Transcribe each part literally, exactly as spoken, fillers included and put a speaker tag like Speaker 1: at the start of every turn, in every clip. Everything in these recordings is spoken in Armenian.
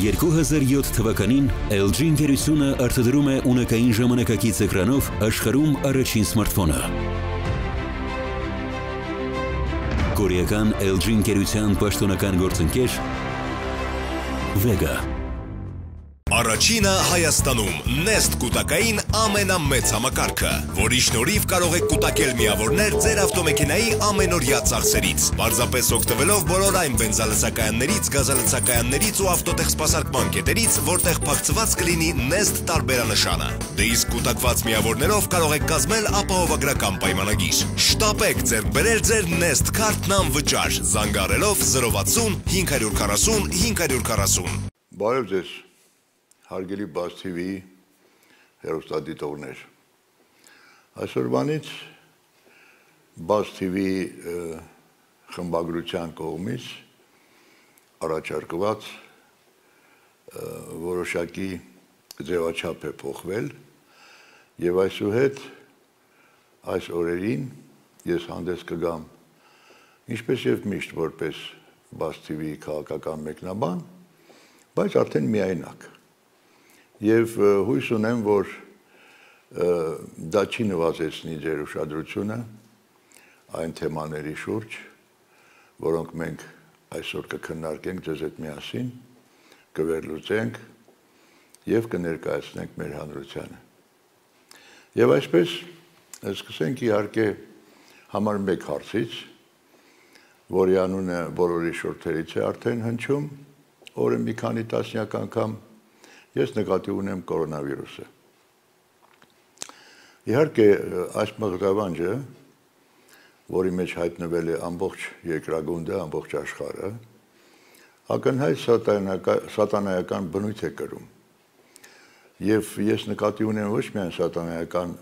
Speaker 1: երկու հազար յոթ թվականին L G ընկերությունը արտադրում է ունակային ժամանակակից էկրանով աշխարհում առաջին սմարթֆոնը։ Կորեական L G ընկերության պաշտոնական գործընկեր Vega։
Speaker 2: Առաջինը Հայաստանում Nest կուտակային ամենամեծ համակարգը, որի շնորհիվ կարող եք կուտակել միավորներ ձեր ավտոմեքենայի ամենօրյա ծախսերից, պարզապես օգտվելով բոլոր այն բենզալցակայաններից, գազալցակայաններից ու ավտոտեխսպասարկման կետերից, որտեղ փակցված կլինի Nest տարբերանշանը։ Դե իսկ կուտակված միավորներով կարող եք կազմել ապահովագրական պայմանագիր։ Շտապեք ձեռք բերել ձեր Nest քարտն անվճար, զանգահարելով զրո վաթսուն հինգ հարյուր քառասուն հինգ հարյուր քառասուն։
Speaker 3: Բարև ձեզ, հարգելի Buzz T V հեռուստադիտողներ։ Այսօրվանից Buzz T V խմբագրության կողմից առաջարկված որոշակի ձևաչափ է փոխվել եւ այսուհետ այս օրերին ես հանդես կգամ ինչպես եւ միշտ որպես Buzz T V քաղաքական մեկնաբան, բայց արդեն միայնակ։ Եվ հույս ունեմ, որ դա չի նվազեցնի ձեր ուշադրությունը այն թեմաների շուրջ, որոնք մենք այսօր կքննարկենք ձեզ հետ միասին, կվերլուծենք եւ կներկայացնենք մեր հանրությանը։ Եվ այսպես սկսենք իհարկե համար մեկ հարցից, որի անունը բոլորի շուրթերից է արդեն հնչում, օրը մի քանի տասնյակ անգամ ես նկատի ունեմ կորոնավիրուսը։ Իհարկե, այս մղձավանջը, որի մեջ հայտնվել է ամբողջ երկրագունդը, ամբողջ աշխարհը, ակնհայտ սատանայական բնույթ է կրում։ Եվ ես նկատի ունեմ ոչ միայն սատանայական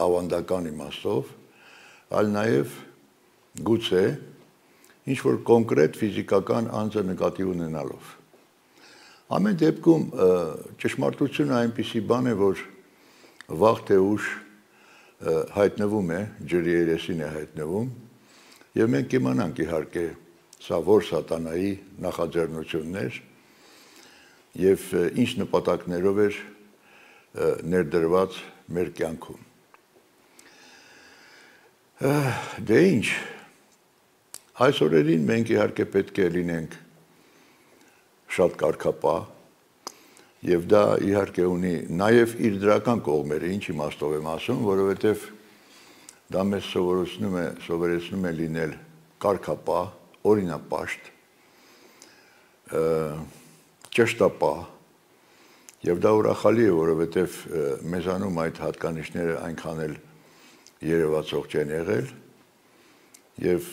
Speaker 3: ավանդական իմաստով, այլ նաև գուցե ինչ-որ կոնկրետ ֆիզիկական անձը նկատի ունենալով։ Ամեն դեպքում ճշմարտությունը այնպիսի բան է, որ վաղ թե ուշ հայտնվում է, ջրի երեսին է հայտնվում, եւ մենք կիմանանք իհարկե սա որ սատանայի նախաձեռնություններ եւ ինչ նպատակներով էր ներդրված մեր կյանքում։ Դե ինչ, այս օրերին մենք իհարկե պետք է լինենք շատ կարգապահ, եւ դա իհարկե ունի նաեւ իր դրական կողմերը, ինչ իմաստով եմ ասում, որովհետեւ դա մեզ սովորեցնում է, սովորեցնում է լինել կարգապահ, օրինապաշտ, ճշտապահ, եւ դա ուրախալի է, որովհետեւ մեզանում այդ հատկանիշները այնքան էլ երևացող չեն եղել, եւ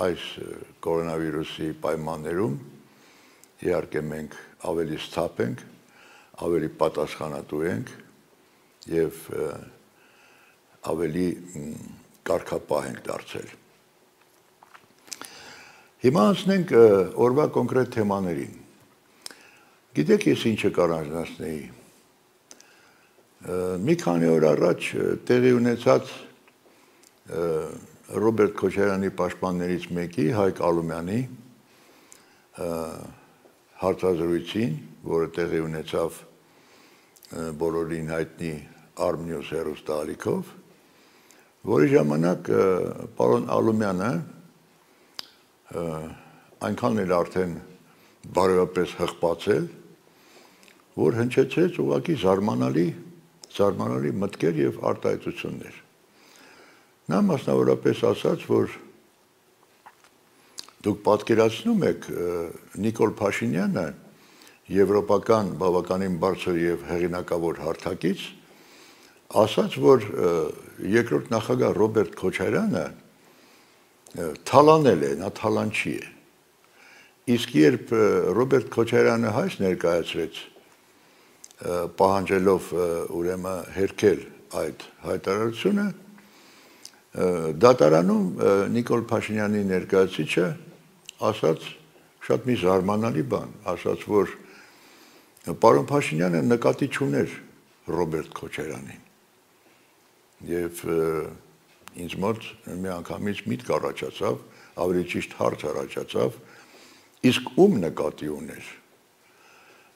Speaker 3: այս կորոնավիրուսի պայմաններում իհարկե մենք ավելի սթափ ենք, ավելի պատասխանատու ենք եւ ավելի կարգապահ ենք դարձել։ Հիմա անցնենք օրվա կոնկրետ թեմաներին։ Գիտեք ես ինչը կառաջնացնեի։ Մի քանի օր առաջ տեղի ունեցած Ռոբերտ Քոչարյանի պաշտպաններից մեկի, Հայկ Ալումյանի հարցազրույցին, որը տեղի ունեցավ բոլորին հայտնի Armnews հեռուստաալիքով, որի ժամանակ պարոն Ալումյանը այնքան էլ արդեն բարոյապես հղպացել, որ հնչեցրեց ուղղակի զարմանալի, զարմանալի մտքեր եւ արտահայտություններ։ Նա մասնավորապես ասաց, որ դուք պատկերացնում եք Նիկոլ Փաշինյանը եվրոպական բավականին բարձր եւ հեղինակավոր հարթակից ասաց, որ երկրորդ նախագահ Ռոբերտ Քոչարյանը թալանել է, նա թալանչի է։ Իսկ երբ Ռոբերտ Քոչարյանը հայց ներկայացրեց, պահանջելով ուրեմն հերքել այդ հայտարարությունը, դատարանում Նիկոլ Փաշինյանի ներկայացուցիչը ասաց շատ մի զարմանալի բան, ասաց, որ պարոն Փաշինյանը նկատի չուներ Ռոբերտ Քոչարյանին։ Եվ ինձ մոտ մի անգամից միտք առաջացավ, ավելի ճիշտ հարց առաջացավ, իսկ ում նկատի ուներ։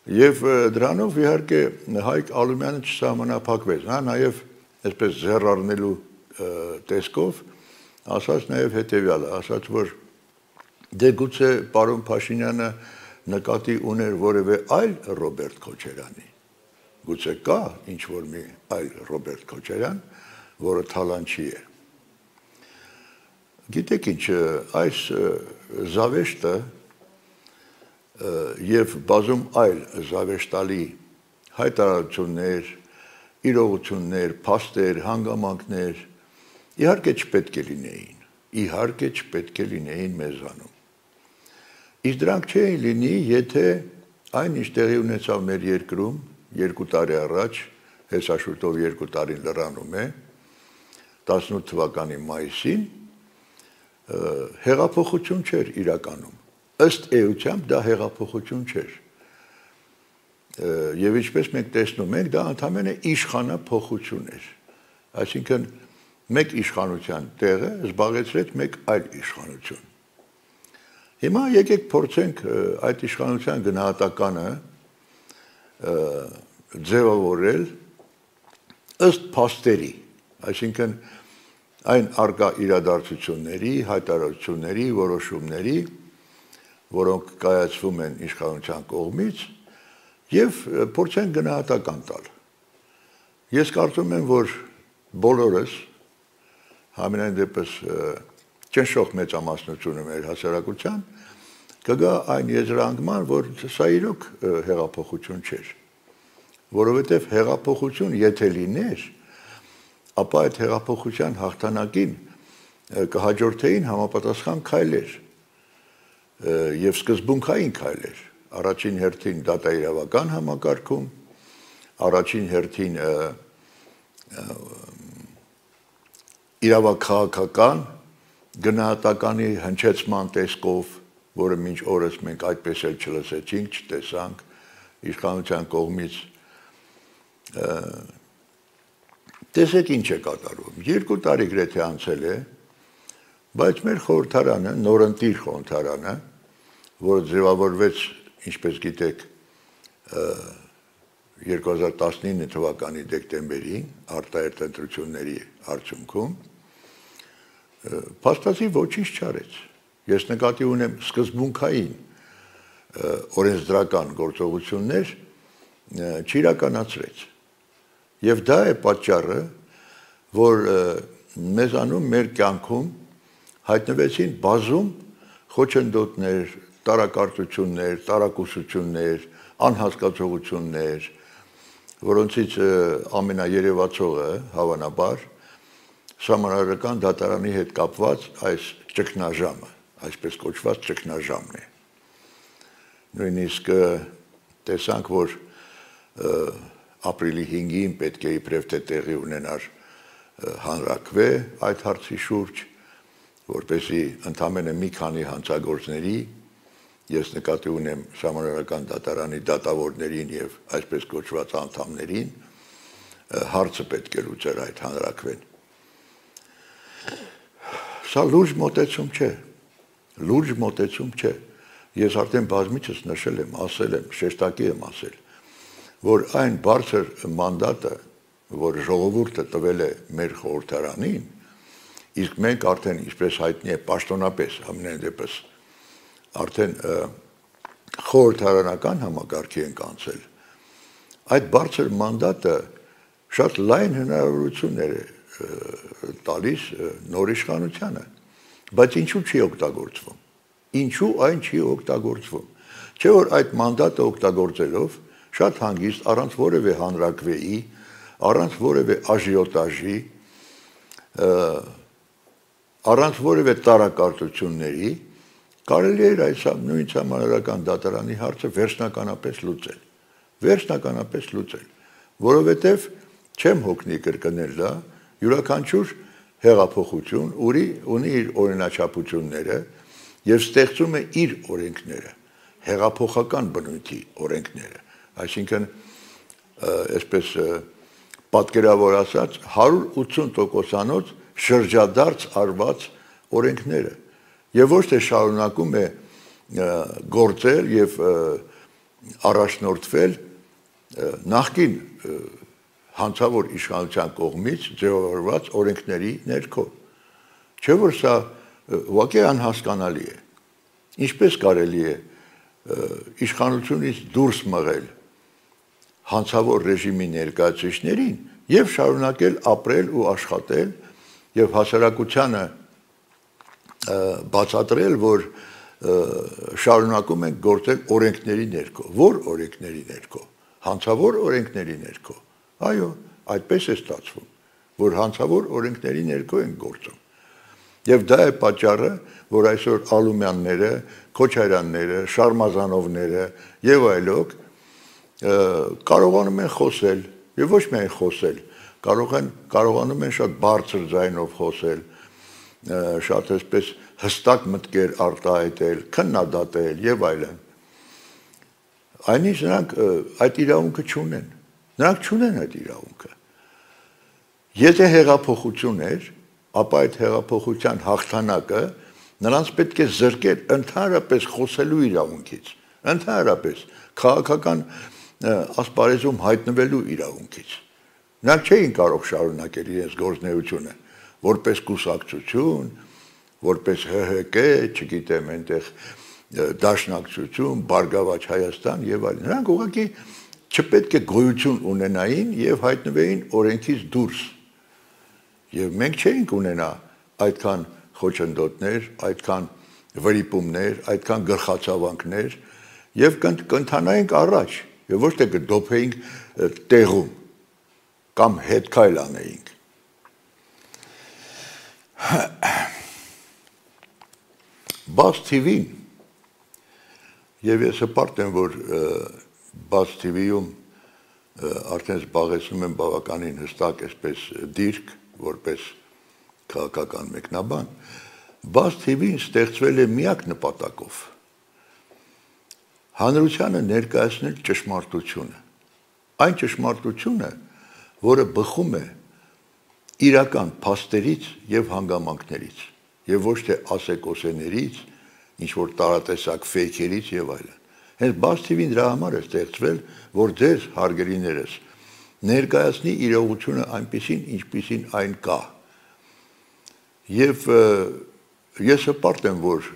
Speaker 3: Եվ դրանով իհարկե Հայկ Ալումյանը չսահմանափակվեց, նա նաև այսպես զեռառնելու տեսքով ասաց նաև հետևյալը, ասաց, որ դե գուցե պարոն Փաշինյանը նկատի ուներ որևէ այլ Ռոբերտ Քոչարյանի, գուցե կա ինչ-որ մի այլ Ռոբերտ Քոչարյան, որը թալանչի է։ Գիտեք ինչ, այս զավեշտը և բազում այլ զավեշտալի հայտարարություններ, իրողություններ, փաստեր, հանգամանքներ իհարկե չպետք է լինեին, իհարկե չպետք է լինեին մեզանում։ Իսկ դրանք չէին լինի, եթե այն ինչ տեղի ունեցավ մեր երկրում երկու տարի առաջ, հեսաշուտով երկու տարին լրանում է, տասնութ թվականի մայիսին, հեղափոխություն չէր իրականում, ըստ էությամբ դա հեղափոխություն չէր, և ինչպես մենք տեսնում ենք, դա ընդամենը իշխանափոխություն էր, այսինքն մեկ իշխանության տեղը զբաղեցրեց մեկ այլ իշխանություն։ Հիմա եկեք փորձենք այդ իշխանության գնահատականը ձևավորել ըստ փաստերի, այսինքն այն արկա իրադարձությունների, հայտարարությունների, որոշումների, որոնք կայացվում են իշխանության կողմից և փորձենք գնահատական տալ։ Ես կարծում եմ, որ բոլորս, համենայն դեպս ճնշող մեծամասնությունը մեր հասարակության, կգա այն եզրահանգման, որ սա իրոք հեղափոխություն չէր, որովհետև հեղափոխություն եթե լիներ, ապա այդ հեղափոխության հաղթանակին կհաջորդեին համապատասխան քայլեր և սկզբունքային քայլեր, առաջին հերթին դատաիրավական համակարգում, առաջին հերթին իրավաքաղաքական գնահատականի հնչեցման տեսքով, որը մինչ օրս մենք այդպես էլ չլսեցինք, չտեսանք իշխանության կողմից, տեսեք ինչ է կատարվում, երկու տարի գրեթե անցել է, բայց մեր խորհրդարանը, նորընտիր խորհրդարանը, որը ձևավորվեց, ինչպես գիտեք, երկու հազար տասնինը թվականի դեկտեմբերին, արտահերթ ընտրությունների արդյունքում, փաստացի ոչինչ չարեց։ Ես նկատի ունեմ սկզբունքային օրենսդրական գործողություններ չիրականացրեց։ Եվ դա է պատճառը, որ մեզանում մեր կյանքում հայտնվեցին բազում խոչընդոտներ, տարակարծություններ, տարակուսություններ, անհասկացողություններ, որոնցից ամենաերևացողը հավանաբար Սահմանադրական դատարանի հետ կապված այս ճգնաժամը, այսպես կոչված ճգնաժամն է։ Նույնիսկ տեսանք, որ ապրիլի հինգին պետք է իբրև թե տեղի ունենար հանրաքվե այդ հարցի շուրջ, որպեսզի ընդամենը մի քանի հանցագործների, ես նկատի ունեմ Սահմանադրական դատարանի դատավորներին և այսպես կոչված անդամներին, հարցը պետք է լուծեր այդ հանրաքվեն։ Սա լուրջ մոտեցում չէ, լուրջ մոտեցում չէ, ես արդեն բազմիցս նշել եմ, ասել եմ, շեշտակի եմ ասել, որ այն բարձր մանդատը, որ ժողովուրդը տվել է մեր խորհրդարանին, իսկ մենք արդեն, ինչպես հայտնի է, պաշտոնապես, ամենայն դեպս, արդեն խորհրդարանական համակարգի ենք անցել, այդ բարձր մանդատը շատ լայն հնարավորություններ է տալիս նոր իշխանությանը, բայց ինչու չի օգտագործվում, ինչու այն չի օգտագործվում, չէ որ այդ մանդատը օգտագործելով շատ հանգիստ առանց որևէ հանրաքվեի, առանց որևէ աժիոտաժի, առանց որևէ տարակարծությունների կարելի էր այս նույն Սահմանադրական դատարանի հարցը վերջնականապես լուծել, վերջնականապես լուծել, որովհետև չեմ հոգնի կրկնել դա, յուրաքանչյուր հեղափոխություն ունի իր օրինաչափությունները և ստեղծում է իր օրենքները, հեղափոխական բնույթի օրենքները, այսինքն, այսպես պատկերավոր ասած, հարյուր ութսուն տոկոսանոց շրջադարձ արված օրենքները, և ոչ թե շարունակում է գործել և առաջնորդվել նախկին հանցավոր իշխանության կողմից ձևավորված օրենքների ներքո։ Չէ՞ որ սա ուղղակի անհասկանալի է։ Ինչպես կարելի է իշխանությունից դուրս մղել հանցավոր ռեժիմի ներկայացուցիչներին եւ շարունակել ապրել ու աշխատել եւ հասարակությանը բացատրել, որ շարունակում են գործել օրենքների ներքո։ Որ օրենքների ներքո։ Հանցավոր օրենքների ներքո։ Այո, այդպես է ստացվում, որ հանցավոր օրենքների ներքո են գործում։ Եվ դա է պատճառը, որ այսօր Ալումյանները, Քոչարյանները, Շարմազանովները եւ այլոք կարողանում են խոսել, եւ ոչ միայն խոսել, կարող են կարողանում են շատ բարձր ձայնով խոսել, շատ այսպես հստակ մտքեր արտահայտել, քննադատել եւ այլն։ Այնինչ նրանք այդ իրավունքը չունեն։ Նրանք չունեն այդ իրավունքը։ Եթե հեղափոխություն էր, ապա այդ հեղափոխության հաղթանակը նրանց պետք է զրկել ընդհանրապես խոսելու իրավունքից, ընդհանրապես քաղաքական ասպարեզում հայտնվելու իրավունքից։ Նրանք չէին կարող շարունակել իրենց գործունեությունը որպես կուսակցություն, որպես Հ Հ Կ, չգիտեմ, այնտեղ Դաշնակցություն, Բարգավաճ Հայաստան եւ այլն։ Նրանք ուղղակի չպետք է գոյություն ունենային եւ հայտնվեին օրենքից դուրս։ Եվ մենք չէինք ունենա այդքան խոչընդոտներ, այդքան վրիպումներ, այդքան գլխացավանքներ եւ կընթանայինք առաջ եւ ոչ թե կդոփեինք տեղում կամ հետքայլ անեինք։ Բաց Թի Վին եւ ես հպարտ եմ, որ Բաց Թի Վիում արդեն զբաղեցնում եմ բավականին հստակ այսպես դիրք, որպես քաղաքական մեկնաբան, Բաց Թի Վին ստեղծվել է միակ նպատակով հանրությանը ներկայացնել ճշմարտությունը, այն ճշմարտությունը, որը բխում է իրական փաստերից եւ հանգամանքներից եւ ոչ թե ասեկոսեներից, ինչ որ տարատեսակ ֆեյքերից եւ այլն։ Հենց Բաց Թի Վին դրա համար է ստեղծվել, որ ձեր հարգելիներս ներկայացնի իրողությունը այնպիսին, ինչպիսին այն կա։ Եվ ես հպարտ եմ, որ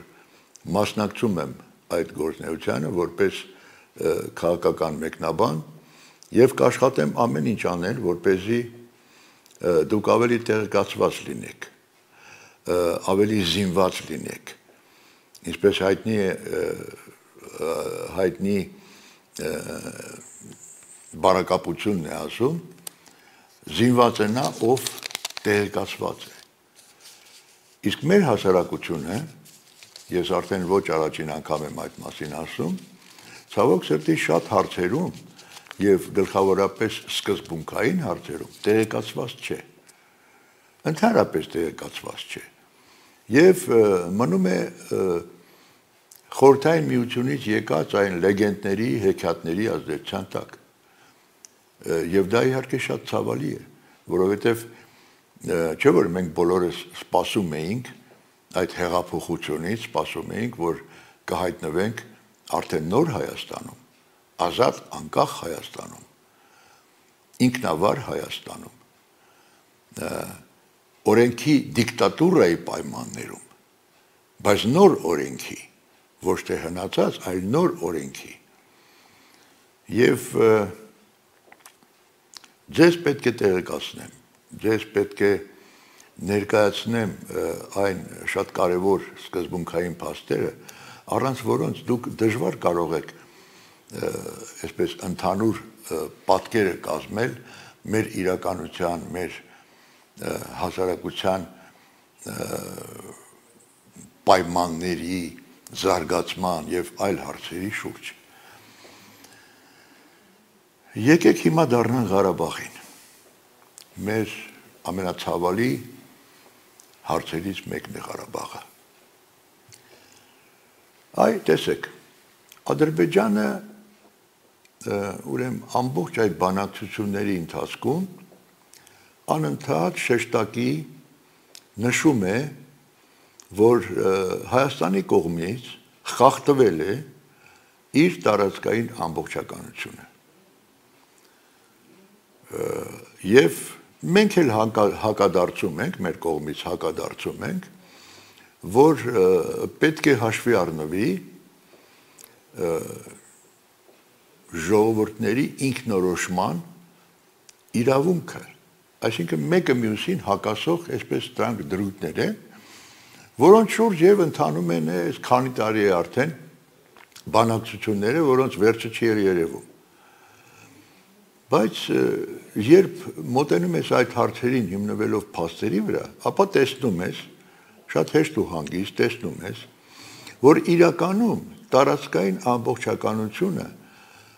Speaker 3: մասնակցում եմ այդ գործունեությանը որպես քաղաքական մեկնաբան եւ կաշխատեմ ամեն ինչ անել, որպեսզի դուք ավելի տեղեկացված լինեք, ավելի զինված լինեք։ Ինչպես հայտնի է հայտնի բարակապությունն է ասում, զինված է նա, ով տեղեկացված է։ Իսկ մեր հասարակությունը, ես արդեն ոչ առաջին անգամ եմ այդ մասին ասում, ցավոք սրտի շատ հարցերում եւ գլխավորապես սկզբունքային հարցերում տեղեկացված չէ։ Ընդհանրապես տեղեկացված չէ։ Եվ մնում է խորհրդային միությունից եկած այն լեգենդների, հեքիաթների ազդեցության տակ։ Եվ դա իհարկե շատ ցավալի է, որովհետեւ չէ՞ որ մենք բոլորս սպասում էինք այդ հեղափոխությունից, սպասում էինք, որ կհայտնվենք արդեն նոր Հայաստանում, ազատ անկախ Հայաստանում, ինքնավար Հայաստանում, օրենքի դիկտատուրայի պայմաններում, բայց նոր օրենքի, ոչ թե հնացած, այլ նոր օրենքի։ Եվ ձեզ պետք է տեղեկացնեմ, ձեզ պետք է ներկայացնեմ այն շատ կարևոր սկզբունքային փաստերը, առանց որոնց դուք դժվար կարող եք այսպես ընդհանուր պատկերը կազմել մեր իրականության, մեր հասարակության պայմանների, զարգացման եւ այլ հարցերի շուրջ։ Եկեք հիմա դառնանք Ղարաբաղին։ Մեր ամենացավալի հարցերից մեկն է Ղարաբաղը։ Այ տեսեք, Ադրբեջանը ուրեմն ամբողջ այդ բանակցությունների ընթացքում անընդհատ շեշտակի նշում է, որ Հայաստանի կողմից խախտվել է իր տարածքային ամբողջականությունը։ Եվ մենք էլ հակադարձում ենք, մեր կողմից հակադարձում ենք, որ պետք է հաշվի առնվի ժողովուրդների ինքնորոշման իրավունքը, այսինքն մեկը մյուսին հակասող այսպես դրանք դրույթներ են, որոնց շուրջ եւ ընթանում են այս քանի տարի է արդեն բանակցությունները, որոնց վերջը չի երևում։ Բայց երբ մոտենում ես այդ հարցերին հիմնվելով փաստերի վրա, ապա տեսնում ես, շատ հեշտ ու հանգիստ տեսնում ես, որ իրականում տարածքային ամբողջականությունը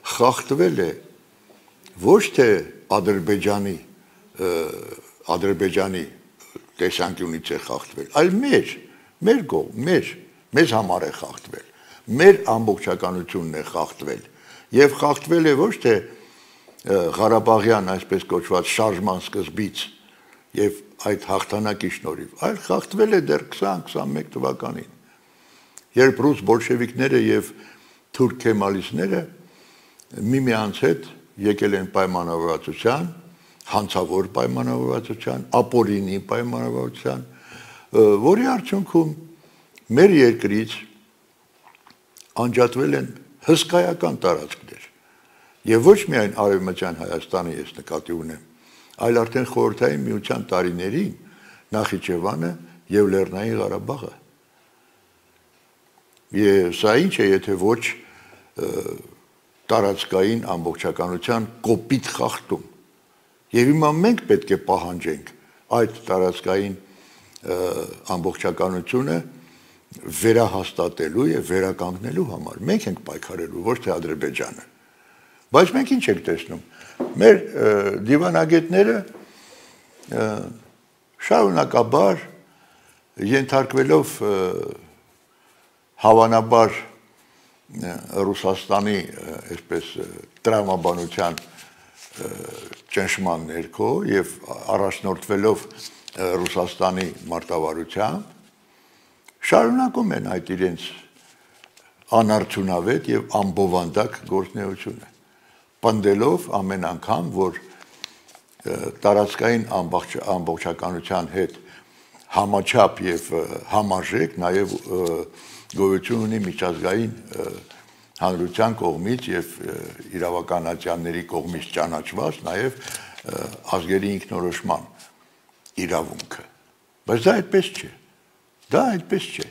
Speaker 3: խախտվել է ոչ թե Ադրբեջանի Ադրբեջանի տեսանկյունից է խախտվել, այլ մեր, մեր կողմ, մեր, մեզ համար է խախտվել, մեր ամբողջականությունն է խախտվել, եւ խախտվել է ոչ թե Ղարաբաղյան այսպես կոչված շարժման սկզբից եւ այդ հաղթանակի շնորհիվ, այլ խախտվել է դեռ քսան քսանմեկ թվականին, երբ ռուս բոլշևիկները եւ թուրք քեմալիստները միմյանց հետ եկել են պայմանավորվածության, հանցավոր պայմանավորվածության, ապօրինի պայմանավորվածության, որի արդյունքում մեր երկրից անջատվել են հսկայական տարածքներ, եւ ոչ միայն Արևմտյան Հայաստանը ես նկատի ունեմ, այլ արդեն խորհրդային միության տարիներին Նախիջևանը եւ Լեռնային Ղարաբաղը։ Եվ սա ինչ է, եթե ոչ տարածքային ամբողջականության կոպիտ խախտում։ Եվ հիմա մենք պետք է պահանջենք այդ տարածքային ամբողջականությունը վերահաստատելու եւ վերականգնելու համար։ Մենք ենք պայքարելու, ոչ թե Ադրբեջանը։ Բայց մենք ինչ ենք տեսնում։ Մեր դիվանագետները շարունակաբար ենթարկվելով հավանաբար Ռուսաստանի այսպես տրամաբանության ճնշման ներքո եւ առաջնորդվելով Ռուսաստանի մարտավարությամբ շարունակում են այդ իրենց անարդյունավետ եւ ամբովանդակ գործունեությունը, պնդելով ամեն անգամ, որ տարածքային ամբողջականության հետ համաչափ եւ համարժեք նաեւ գոյություն ունի միջազգային հանրության կողմից եւ իրավականացիաների կողմից ճանաչված նաեւ ազգերի ինքնորոշման իրավունքը։ Բայց դա այդպես չէ։ Դա այդպես չէ։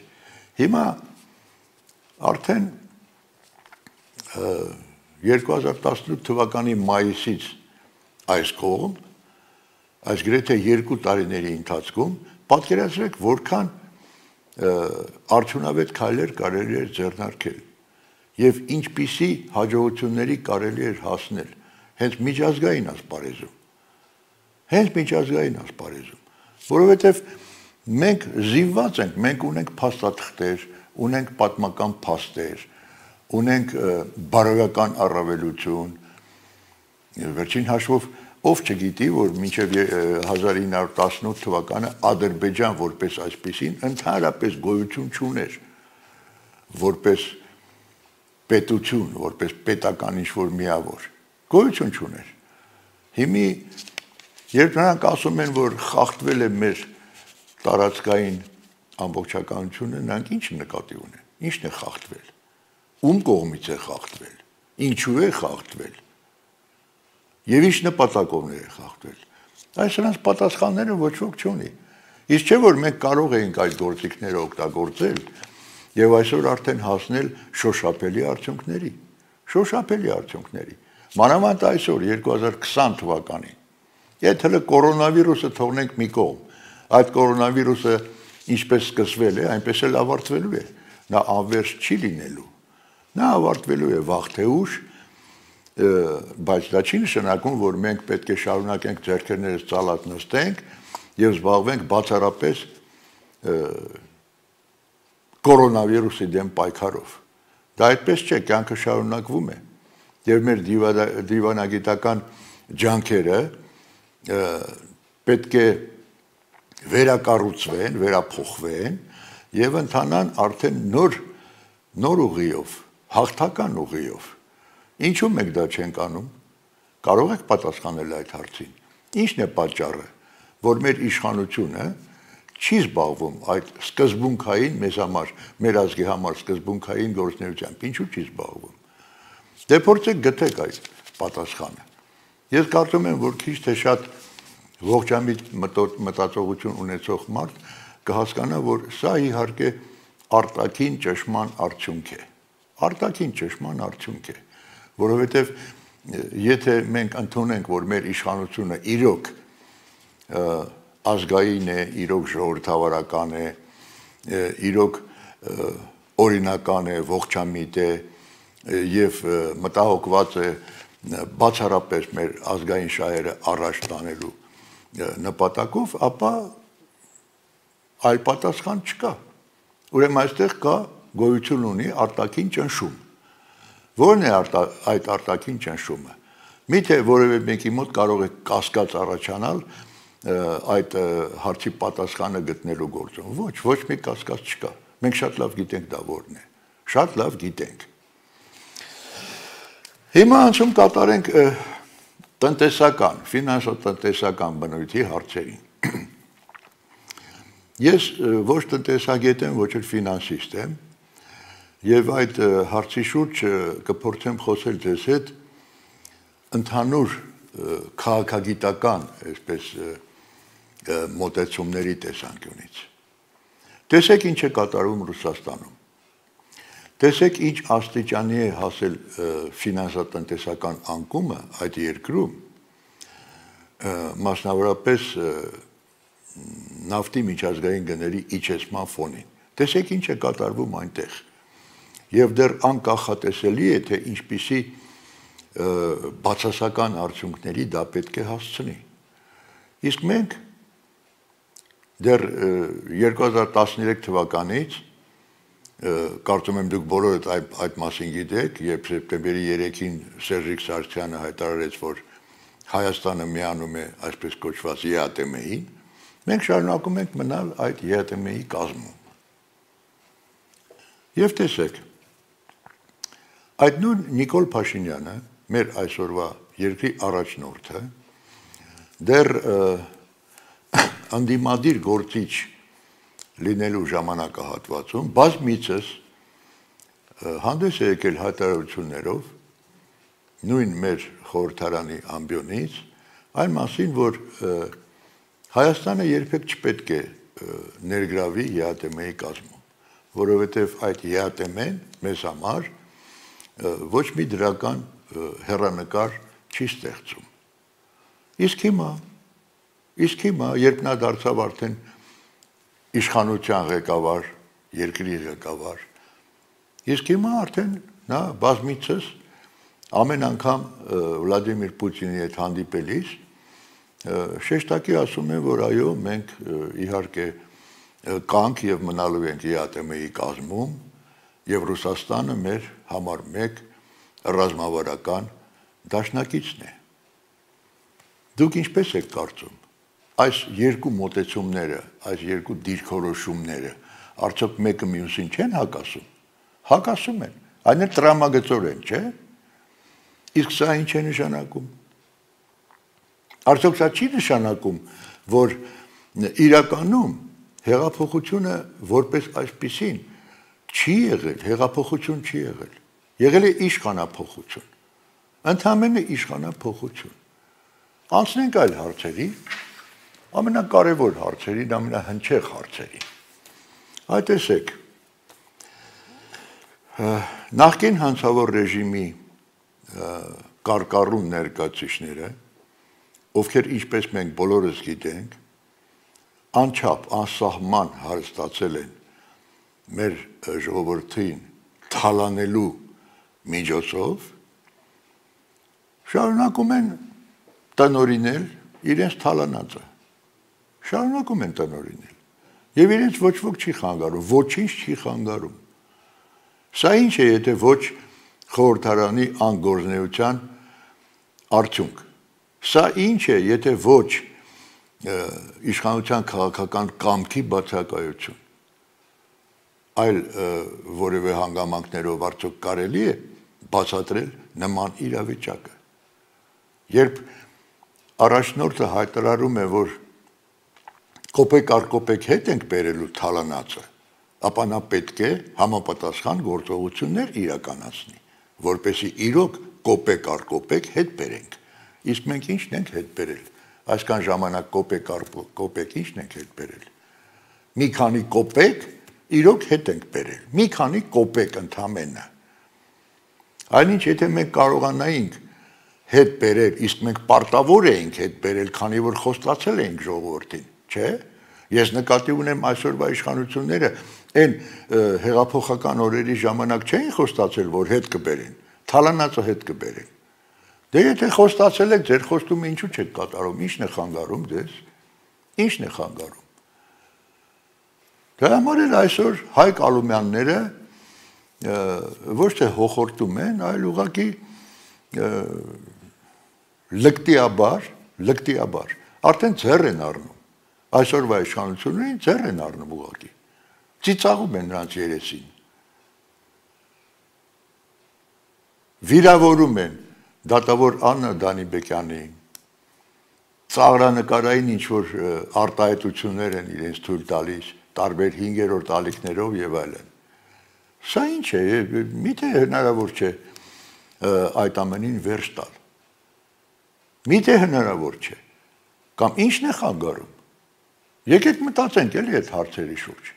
Speaker 3: Հիմա արդեն երկու հազար տասնութ թվականի մայիսից այս կողմ, այս գրեթե երկու տարիների ընթացքում պատկերացրեք որքան արդյունավետ քայլեր կարելի էր ձեռնարկել եւ ինչպիսի հաջողությունների կարելի էր հասնել հենց միջազգային ասպարեզում։ Հենց միջազգային ասպարեզում, որովհետեւ մենք զինված ենք, մենք ունենք փաստաթղթեր, ունենք պատմական փաստեր, ունենք բարոյական առավելություն, վերջին հաշվով ով չգիտի, որ մինչև հազար ինը հարյուր տասնութ թվականը Ադրբեջան որպես այսպիսին ընդհանրապես գոյություն չուներ, որպես պետություն, որպես պետական ինչ-որ միավոր, գոյություն չուներ։ Հիմի, երբ նրանք ասում են, որ խախտվել է մեր տարածքային ամբողջականությունը, նրանք ինչ նկատի ունեն, ինչն է խախտվել, ում կողմից է խախտվել, ինչու է խախտվել, եւ ինչ նպատակով է խախտվել։ Այս նրանց պատասխանները ոչ ոք չունի։ Իսկ չէ որ մենք կարող էինք այդ գործիքները օգտագործել եւ այսօր արդեն հասնել շոշափելի արդյունքների, շոշափելի արդյունքների։ Մանավանդ այսօր երկու հազար քսան թվականին, եթե հələ կորոնավիրուսը թողնենք մի կողմ, այդ կորոնավիրուսը ինչպես սկսվել է, այնպես էլ ավարտվելու է։ Նա անվերջ չի լինելու։ Նա ավարտվելու է վաղ թե ուշ, բայց դա չի նշանակում, որ մենք պետք է շարունակենք ձեռքերներս ծալած նստենք եւ զբաղվենք բացառապես կորոնավիրուսի դեմ պայքարով։ Դա այդպես չէ, կյանքը շարունակվում է եւ մեր դիվանագիտական ջանքերը պետք է վերակառուցվեն, վերափոխվեն եւ ընթանան արդեն նոր նոր ուղիով, հաղթական ուղիով։ Ինչու մենք դա չենք անում։ Կարող եք պատասխանել այդ հարցին։ Ինչն է պատճառը, որ մեր իշխանությունը չի զբաղվում այդ սկզբունքային մեզ համար, մեր ազգի համար սկզբունքային գործունեությամբ, ինչու չի զբաղվում։ Դե փորձեք գտեք այդ պատասխանը։ Ես կարծում եմ, որ քիչ թե շատ ողջամիտ մտածողություն ունեցող մարդ կհասկանա, որ սա իհարկե արտաքին ճշմարտ արդյունք է։ Արտաքին ճշմարտ արդյունք է, որովհետև եթե մենք ընդունենք, որ մեր իշխանությունը իրոք ազգային է, իրոք ժողովրդավարական է, իրոք օրինական է, ողջամիտ է եւ մտահոգված է բացառապես մեր ազգային շահերը առաջ տանելու նպատակով, ապա այլ պատասխան չկա։ Ուրեմն այստեղ կա գոյություն ունի արտաքին ճնշում։ Որն է այդ արտաքին ճնշումը։ Միթե որևէ մեկի մոտ կարող է կասկած առաջանալ այդ հարցի պատասխանը գտնելու գործում։ Ոչ, ոչ մի կասկած չկա։ Մենք շատ լավ գիտենք դա որն է։ Շատ լավ գիտենք։ Հիմա անցում կատարենք տնտեսական, ֆինանսատնտեսական բնույթի հարցերին։ Ես ոչ տնտեսագետ եմ, ոչ էլ ֆինանսիստ եմ, եւ այդ հարցի շուրջ կփորձեմ խոսել ձեզ հետ ընդհանուր քաղաքագիտական, այսպես մոտեցումների տեսանկյունից։ Տեսեք ինչ է կատարվում Ռուսաստանում։ Տեսեք ինչ աստիճանի է հասել ֆինանսատնտեսական անկումը այդ երկրում, մասնավորապես նավթի միջազգային գների իջեցման ֆոնին։ Տեսեք ինչ է կատարվում այնտեղ։ Եվ դեռ անկախատեսելի է, թե ինչպիսի բացասական արդյունքների դա պետք է հասցնի։ Իսկ մենք դեռ երկու հազար տասներեք թվականից, կարծում եմ դուք բոլորդ այդ մասին գիտեք, երբ սեպտեմբերի երեքին Սերժիկ Սարգսյանը հայտարարեց, որ Հայաստանը միանում է այսպես կոչված Ե Ա Տե Մեին, մենք շարունակում ենք մնալ այդ Ե Ա Տե Մեի կազմում։ Եվ տեսեք, այդ նույն Նիկոլ Փաշինյանը, մեր այսօրվա երկրի առաջնորդը, դեռ անդիմադիր գործիչ լինելու ժամանակահատվածում բազմիցս հանդես է եկել հայտարարություններով նույն մեր խորհրդարանի ամբիոնից այն մասին, որ Հայաստանը երբեք չպետք է ներգրավի Ե Ա Տե Մեի կազմում, որովհետև այդ Ե Ա Տե Մեն մեզ համար ոչ մի դրական հեռանկար չի ստեղծում։ Իսկ հիմա, իսկ հիմա, երբ նա դարձավ արդեն իշխանության ղեկավար, երկրի ղեկավար, իսկ հիմա արդեն նա բազմիցս ամեն անգամ Վլադիմիր Պուտինի հետ հանդիպելիս շեշտակի ասում է, որ այո, մենք իհարկե կանք եւ մնալու ենք Ե Ա Տե Մեի կազմում եւ Ռուսաստանը մեր համար մեկ ռազմավարական դաշնակիցն է։ Դուք ինչպես եք կարծում, այս երկու մոտեցումները, այս երկու դիրքորոշումները արդյոք մեկը մյուսին չեն հակասում։ Հակասում են, այն էլ տրամագծորեն, չէ՞։ Իսկ սա ինչ է նշանակում։ Արդյոք սա չի նշանակում, որ իրականում հեղափոխությունը որպես այսպիսին չի եղել, հեղափոխություն չի եղել։ Եղել է իշխանափոխություն։ Ընդհանրապես իշխանափոխություն։ Անցնենք այլ հարցերի, ամենակարևոր հարցերին, ամենահնչեղ հարցերին։ Այդ տեսեք, նախկին հանցավոր ռեժիմի կարկառուն ներկայացուցիչները, ովքեր ինչպես մենք բոլորս գիտենք, անչափ, անսահման հարստացել են մեր ժողովրդին թալանելու միջոցով, շարունակում են տնօրինել իրենց թալանածը։ Շարունակում են տնօրինել։ Եվ իրենց ոչ ոք չի խանգարում, ոչինչ չի խանգարում։ Սա ինչ է, եթե ոչ խորհրդարանի անգործնեության արդյունք։ Սա ինչ է, եթե ոչ իշխանության քաղաքական կամքի բացակայություն։ այլ որևէ հանգամանքներով արդյոք կարելի է բացատրել նման իրավիճակը։ Երբ առաջնորդը հայտարարում է, որ կոպեկ առ կոպեկ հետ ենք բերելու թալանացը, ապա նա պետք է համապատասխան գործողություններ իրականացնի, որպեսզի իրոք կոպեկ առ կոպեկ հետ բերենք։ Իսկ մենք ի՞նչն ենք հետ բերել։ Այսքան ժամանակ կոպեկ առ կոպեկ ի՞նչն ենք հետ բերել։ Մի քանի կոպեկ իրոք հետ ենք բերել, մի քանի կոպեկ ընդամենը։ Այնինչ, եթե մենք կարողանայինք հետ բերել, իսկ մենք պարտավոր էինք հետ բերել, քանի որ խոստացել էինք ժողովրդին, չէ՞։ Ես նկատի ունեմ այսօրվա իշխանությունները այն հեղափոխական օրերի ժամանակ չէին խոստացել, որ հետ կբերեն, թալանացը հետ կբերեն։ Դե եթե խոստացել եք, ձեր խոստումը ինչու չեք կատարում, ի՞նչն է խանգարում դες, ի՞նչն է խանգարում։ Դրա համար էլ այսօր Հայկ Ալումյանները ոչ թե հոխորտում են, այլ ուղղակի լկտիաբար, լկտիաբար արդեն ձեռ են առնում։ Այսօրվա իշխանություններին ձեռ են առնում ուղղակի։ Ծիծաղում են նրանց երեսին։ Վիրավորում են դատավոր Աննա Դանիբեկյանի, ծաղրանկարային ինչ-որ արտահայտություններ են իրենց թույլ տալիս, տարբեր հինգերորդ ալիքներով եւ այլն։ Սա ինչ է, միթե հնարավոր չէ այդ ամենին վերջ տալ։ Միթե հնարավոր չէ։ Կամ ի՞նչն է խանգարում։ Եկեք մտածենք էլի այդ հարցերի շուրջ։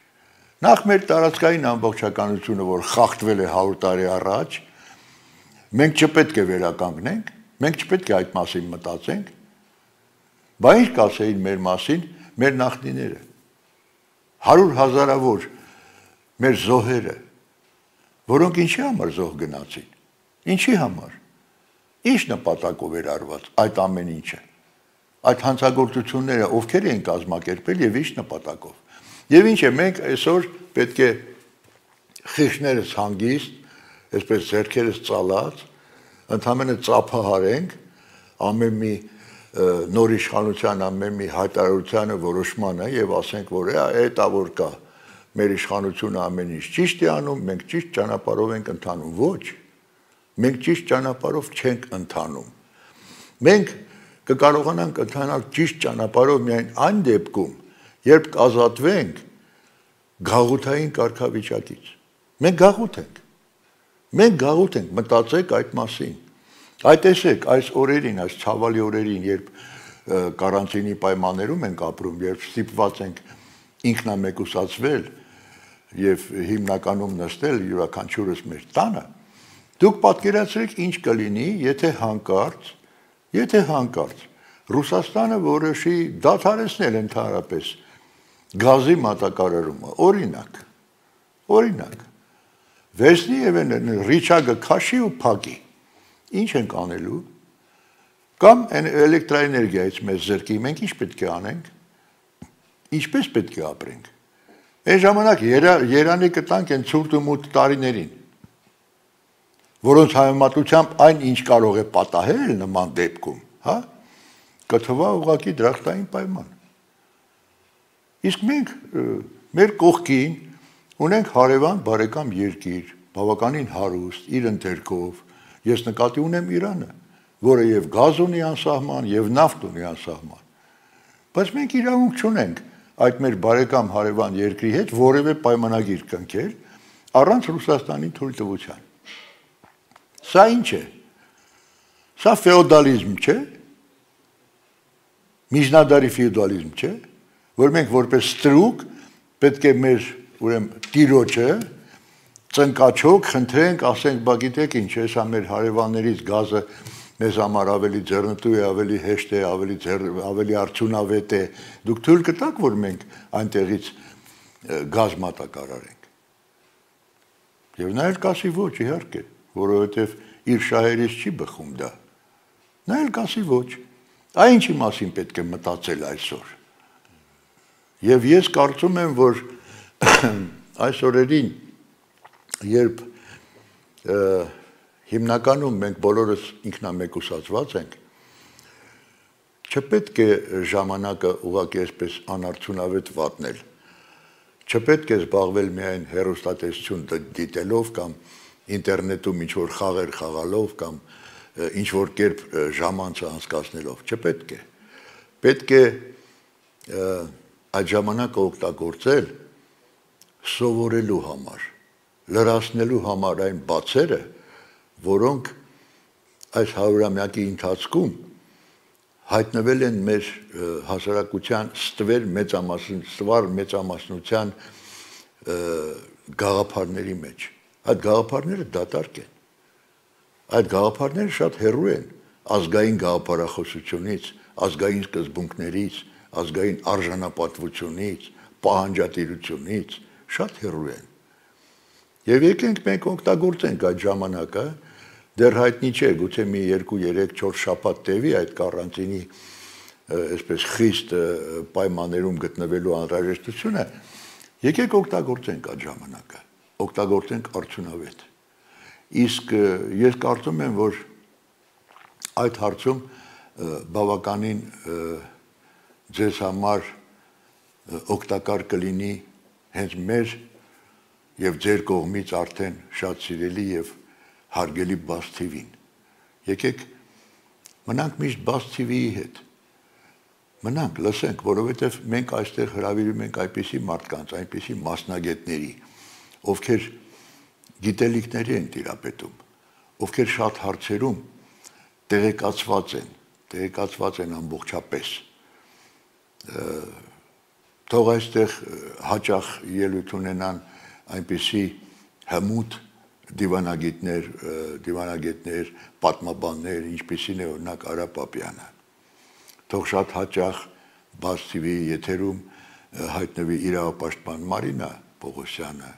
Speaker 3: Նախ մեր տարածքային ամբողջականությունը, որ խախտվել է հարյուր տարի առաջ, մենք չպետք է վերականգնենք, մենք չպետք է այդ մասին մտածենք, բա ինչ կասեին մեր մասին մեր նախնիները, հարյուր հազարավոր մեր զոհերը, որոնք ինչի համար զոհ գնացին, ինչի համար, ինչ նպատակով էր արված այդ ամեն ինչը, այդ հանցագործությունները ովքեր էին կազմակերպել եւ ինչ նպատակով։ Եվ ինչ է, մենք այսօր պետք է խիղճներս հանգիստ, այսպես ձեռքերս ծալած, ընդհանրապես ծափահարենք ամեն մի նոր իշխանության ամեն մի հայտարարությանը որոշմանը եւ ասենք, որ այդ ավոր կա մեր իշխանությունը ամեն ինչ ճիշտ է անում, մենք ճիշտ ճանապարհով ենք ընթանում։ Ոչ, մենք ճիշտ ճանապարհով չենք ընթանում։ Մենք կկարողանանք ընթանալ ճիշտ ճանապարհով միայն այն դեպքում, երբ կազատվենք գաղութային կարգավիճակից։ Մենք գաղութ ենք։ Մենք գաղութ ենք, մտածեք այդ մասին։ Այդ տեսեք, այս օրերին, այս ցավալի օրերին, երբ կարանտինի պայմաններում ենք ապրում, երբ ստիպված ենք ինքնամեկուսացվել եւ հիմնականում նստել յուրաքանչյուրս մեր տանը, դուք պատկերացրեք ինչ կլինի, եթե հանկարծ, եթե հանկարծ Ռուսաստանը որոշի դադարեցնել ընդհանրապես գազի մատակարարումը, օրինակ, օրինակ, վերցնի եւ ռիչագը քաշի ու փակի, ինչ ենք անելու, կամ էլեկտրաէներգիայից մեզ զրկի, մենք ինչ պետք է անենք, ինչպես պետք է ապրենք, այն ժամանակ երանի կտանք են ցուրտ ու մութ տարիներին, որոնց համեմատությամբ այն ինչ կարող է պատահել նման դեպքում, հա, կթվա ուղղակի դրախտային պայման։ Իսկ մենք մեր կողքին ունենք հարևան բարեկամ երկիր, բավականին հարուստ, իր ընթերքով, ես նկատի ունեմ Իրանը, որը եւ գազ ունի անսահման, եւ նավթ ունի անսահման։ Բայց մենք իրավունք չունենք այդ մեր բարեկամ հարևան երկրի հետ որևէ պայմանագիր կնքել առանց Ռուսաստանի թույլտվության։ Սա ինչ է։ Սա ֆեոդալիզմ չէ։ Միջնադարի ֆեոդալիզմ չէ, որ մենք որպես ստրուկ պետք է մեր ուրեմն տիրոջը ծնկաչոք խնդրենք, ասենք, բա գիտեք ինչ, հեսա մեր հարևաններից գազը մեզ համար ավելի ձեռնտու է, ավելի հեշտ է, ավելի ավելի արդյունավետ է։ Դուք թույլ կտաք, որ մենք այնտեղից գազ մատակարարենք։ Եվ նա էլ կասի ոչ, իհարկե, որովհետև իր շահերից չի բխում դա։ Նա էլ կասի ոչ։ Այն ինչի մասին պետք է մտածել այսօր։ Եվ ես կարծում եմ, որ այս օրերին, երբ հիմնականում մենք բոլորս ինքնամեկուսացված ենք, չպետք է ժամանակը ուղղակի այսպես անարդյունավետ վատնել։ Չպետք է զբաղվել միայն հեռուստատեսություն դիտելով կամ ինտերնետում ինչ-որ խաղեր խաղալով կամ ինչ-որ կերպ ժամանցը անցկացնելով, չպետք է։ Պետք է այդ ժամանակը օգտագործել սովորելու համար, լրացնելու համար այն բացերը, որոնք այս հարյուրամյակի ընթացքում հայտնվել են մեր հասարակության ստվեր մեծամասն, ստվար մեծամասնության գաղափարների մեջ։ Այդ գաղափարները դատարկ են։ Այդ գաղափարները շատ հեռու են ազգային գաղափարախոսությունից, ազգային սկզբունքներից, ազգային արժանապատվությունից, պահանջատիրությունից, շատ հեռու են։ Եվ եկենք մենք օգտագործենք այդ ժամանակը, դեռ հայտնի չէ, գուցե մի երկու, երեք, չորս շաբաթ տևի այդ կարանտինի այսպես խիստ պայմաններում գտնվելու անհրաժեշտությունը, եկեք օգտագործենք այդ ժամանակը, օգտագործենք արդյունավետ։ Իսկ ես կարծում եմ, որ այդ հարցում բավականին ձեզ համար օգտակար կլինի հենց մեր եւ ձեր կողմից արդեն շատ սիրելի եւ հարգելի Բաց թի վին։ Եկեք մնանք միշտ Բաց թի վիի հետ։ Մնանք, լսենք, որովհետև մենք այստեղ հրավիրում ենք այնպիսի մարդկանց, այնպիսի մասնագետների, ովքեր գիտելիքների են տիրապետում, ովքեր շատ հարցերում տեղեկացված են, տեղեկացված են ամբողջապես։ Թող այստեղ հաճախ ելույթ ունենան այնպիսի հմուտ դիվանագետներ, դիվանագետներ, պատմաբաններ, ինչպիսին է օրինակ Արա Պապյանը։ Թող շատ հաճախ Բաց թի վիի եթերում հայտնվի իրավապաշտպան Մարինա Պողոսյանը։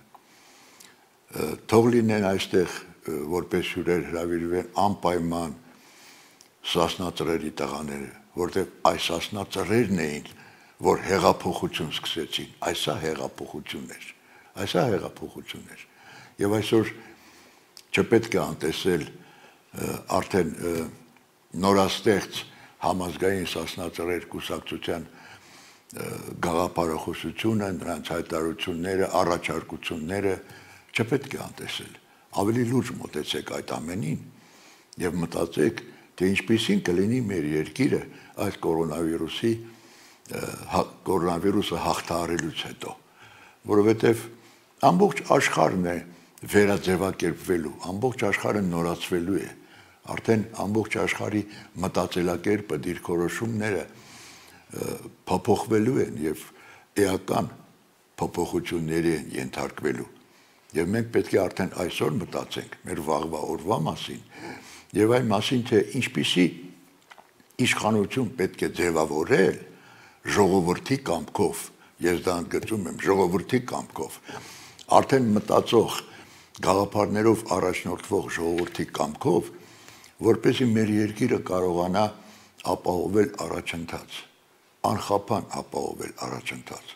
Speaker 3: Թող լինեն այստեղ որպես հյուրեր հրավիրվեն անպայման Սասնա Ծռերի տղաները, որտեղ այս Սասնա Ծռերն էին, որ հեղափոխություն սկսեցին, այսա հեղափոխություն էր, այսա հեղափոխություն էր։ Եվ այսօր չպետք է անտեսել արդեն նորաստեղծ համազգային Սասնա Ծռեր կուսակցության գաղափարախոսությունը, նրանց հայտարարությունները, առաջարկությունները չպետք է անտեսել։ Ավելի լուրջ մոտեցեք այդ ամենին եւ մտածեք, թե ինչպիսին կլինի մեր երկիրը այդ կորոնավիրուսի կորոնավիրուսը հաղթահարելուց հետո, որովհետեւ ամբողջ աշխարհն է վերաձևակերպվելու, ամբողջ աշխարհը նորացվելու է, արդեն ամբողջ աշխարհի մտածելակերպը, դիրքորոշումները փոփոխվելու են եւ էական փոփոխությունների են ենթարկվելու։ Եվ մենք պետք է արդեն այսօր մտածենք մեր վաղվա օրվա մասին եւ այն մասին, թե ինչպիսի իշխանություն պետք է ձևավորել ժողովրդի կամքով, ես դա ընդգծում եմ, ժողովրդի կամքով, արդեն մտածող գաղափարներով առաջնորդվող ժողովրդի կամքով, որպեսզի մեր երկիրը կարողանա ապահովել առաջընթաց, անխափան ապահովել առաջընթաց,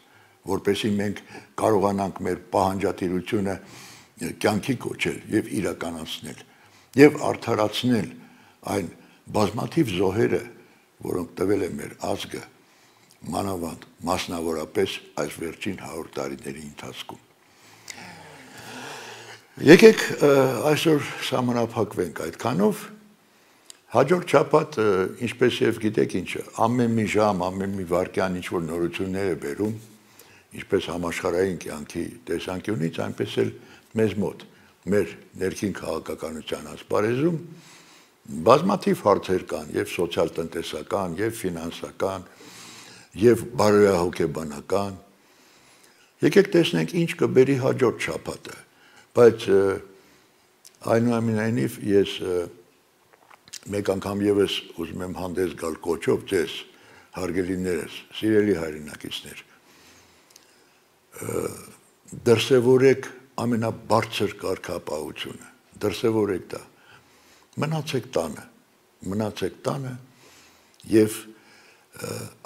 Speaker 3: որպեսզի մենք կարողանանք մեր պահանջատիրությունը կյանքի կոչել եւ իրականացնել եւ արդարացնել այն բազմաթիվ զոհերը, որոնք տվել է մեր ազգը, մանավանդ մասնավորապես այս վերջին հարյուր տարիների ընթացքում։ Եկեք այսօր սահմանափակվենք այդքանով, հաջորդ շաբաթ, ինչպես եւ գիտեք ինչը, ամեն մի ժամ, ամեն մի վայրկյան ինչ որ նորություններ է բերում, ինչպես համաշխարհային կյանքի տեսանկյունից, այնպես էլ մեզ մոտ, մեր ներքին քաղաքականության ասպարեզում բազմաթիվ հարցեր կան, եւ սոցիալ-տնտեսական, եւ ֆինանսական, եւ բարոյահոգեբանական։ Եկեք տեսնենք ինչ կբերի հաջորդ շաբաթը, բայց այնուամենայնիվ ես մեկ անգամ եւս ուզում եմ հանդես գալ կոչով ձեզ, հարգելիներս, սիրելի հայրենակիցներ, դրսևորեք ամենաբարձր կարգապահությունը, դրսևորեք դա, մնացեք տանը, մնացեք տանը եւ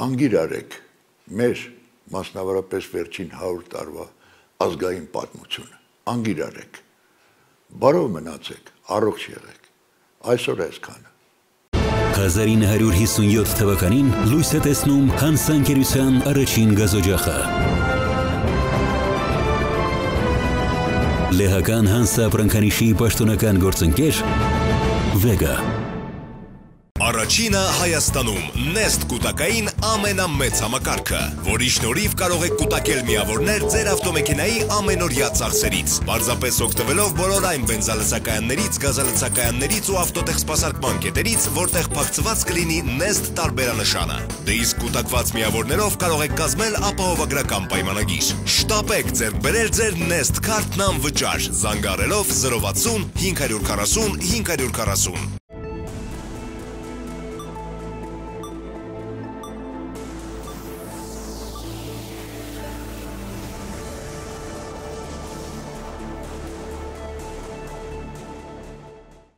Speaker 3: անգիր արեք մեր մասնավորապես վերջին հարյուր տարվա ազգային պատմությունը, անգիր արեք, բարով մնացեք, առողջ եղեք, այսօր այսքանը։
Speaker 1: հազար ինը հարյուր հիսունյոթ թվականին լույս է տեսնում հանսանկերության առաջին գազօջախը։ Լեհական հանսապրանքանիշի պաշտոնական գործընկեր Vega։
Speaker 2: Առաջինը Հայաստանում Nest կուտակային ամենամեծ համակարգը, որի շնորհիվ կարող եք կուտակել միավորներ ձեր ավտոմեքենայի ամենօրյա ծախսերից, պարզապես օգտվելով բոլոր այն բենզալցակայաններից, գազալցակայաններից ու ավտոտեխսպասարկման կետերից, որտեղ փակցված կլինի Nest տարբերանշանը։ Դե իսկ կուտակված միավորներով կարող եք կազմել ապահովագրական պայմանագիր։ Շտապեք ձեռք բերել ձեր Nest քարտն անվճար, զանգարելով զրո վաթսուն հինգ հարյուր քառասուն հինգ հարյուր քառասուն։